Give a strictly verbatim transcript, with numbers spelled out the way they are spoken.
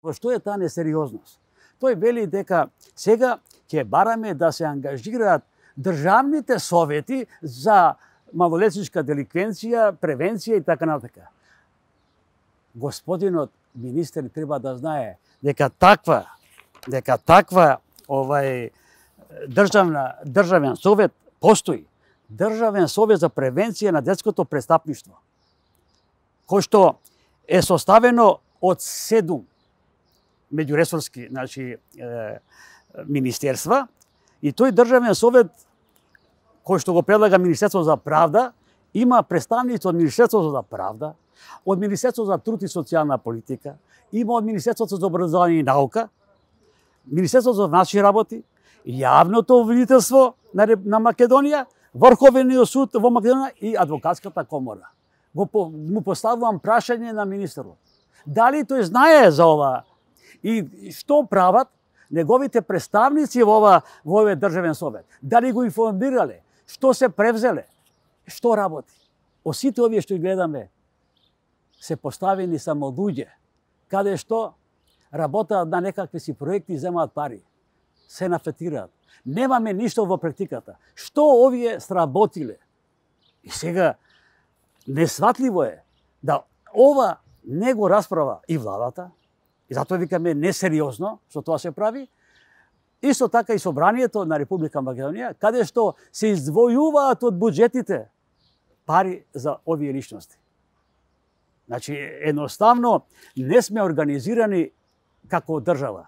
Во што е таа несериозност? Тој вели дека сега ќе бараме да се ангажираат државните совети за малолетничка деликвенција, превенција и така натака. Господинот министер треба да знае дека таква дека таква овај државна државен совет постои. Државен совет за превенција на детското престапништво, кој што е составено од седум меѓуресорски, значи, е, министерства, и тој државен совет кој што го предлага Министерството за правда, има представници од Министерството за правда, од Министерството за труд и социјална политика, има од Министерството за образование и наука, Министерството за внатрешни работи, јавното обвинителство на, на Македонија, Врховниот суд во Македонија и адвокатската комора. Го по, му поставувам прашање на министерот. Дали тој знае за ова и што прават неговите представници во ова во овој државен совет? Дали го информирале? Што се превзеле? Што работи? Од сите овие што гледаме се поставени само луѓе, каде што работаат на некакви си проекти и земаат пари. Се нафетираат. Немаме ништо во практиката. Што овие сработиле? И сега несватливо е да ова не го расправа и владата, и затоа викаме несериозно што тоа се прави, исто така и собранието на Република Македонија, каде што се издвојуваат од буџетите пари за овие личности. Значи, едноставно не сме организирани како држава.